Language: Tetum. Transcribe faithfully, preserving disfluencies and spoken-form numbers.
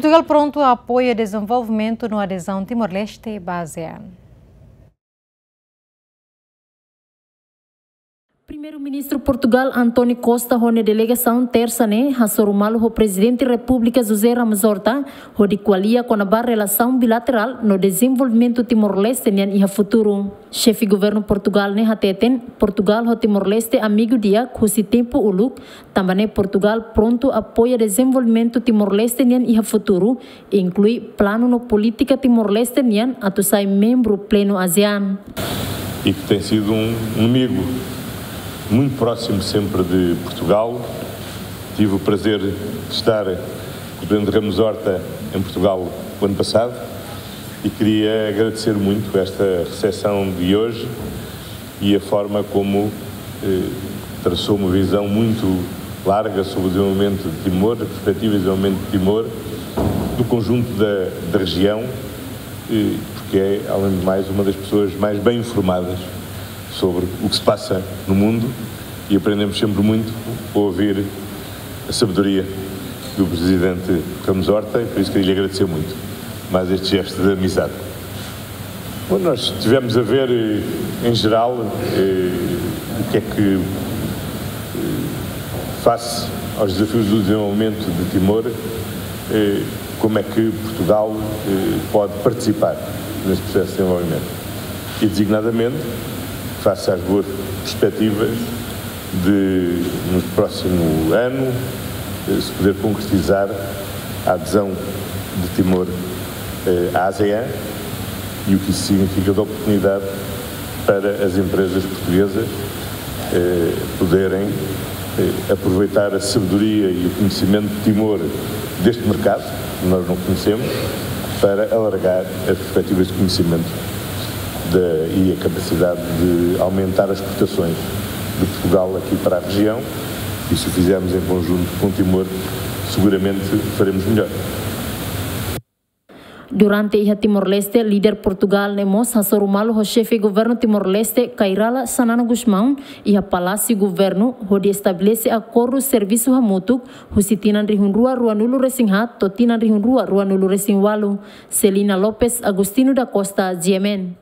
Portugal prontu apoia dezenvolvimentu no adezaun Timor-Leste ba ASEAN. Primeiru-Ministru Portugal, António Costa, ho nia delegasaun, tersa ne'e hasoru malu ho Prezidente Repúblika José Ramos Horta, hodi ko'alia kona-ba relasaun bilaterál no dezenvolvimentu Timor-Leste nian iha futuru. Xefe Governu Portugal ne'e hateten, Portugal ho Timor-Leste amigu di'ak husi tempu uluk, tanba ne'e Portugal prontu apoia dezenvolvimentu Timor-Leste nian iha futuru, inklui planu no polítika Timor-Leste nian atu sai membru plenu ASEAN. E que tem sido um, um amigo muito próximo sempre de Portugal. Tive o prazer de estar com o Presidente Ramos Horta em Portugal o ano passado e queria agradecer muito esta recepção de hoje e a forma como, eh, traçou uma visão muito larga sobre o desenvolvimento de Timor, a perspectiva de desenvolvimento de Timor, do conjunto da, da região, eh, porque é, além de mais, uma das pessoas mais bem informadas sobre o que se passa no mundo e aprendemos sempre muito a ouvir a sabedoria do Presidente Ramos Horta, e por isso queria lhe agradecer muito mais este gesto de amizade. Bom, nós tivemos a ver, eh, em geral, eh, o que é que, eh, face aos desafios do desenvolvimento de Timor, eh, como é que Portugal, eh, pode participar nesse processo de desenvolvimento. E, designadamente, face às boas perspectivas de, no próximo ano, eh, se poder concretizar a adesão de Timor, eh, à ASEAN, e o que isso significa de oportunidade para as empresas portuguesas, eh, poderem, eh, aproveitar a sabedoria e o conhecimento de Timor deste mercado, que nós não conhecemos, para alargar as perspectivas de conhecimento da, e a capacidade de aumentar as exportações de Portugal aqui para a região. E se o fizermos em conjunto com Timor, seguramente faremos melhor. Durante iha Timor-Leste, líder Portugal ne'e mós hasoru malu ho Xefe Governu Timor-Leste, Kay Rala Xanana Gusmão, iha Palásiu Governu, hodi estabelese akordu servisu hamutuk husi tinan rihun rua ruanulu resin haat to'o tinan rihun rua ruanulu resin ualu. Celina Lopes, Agostinho da Costa, G M N.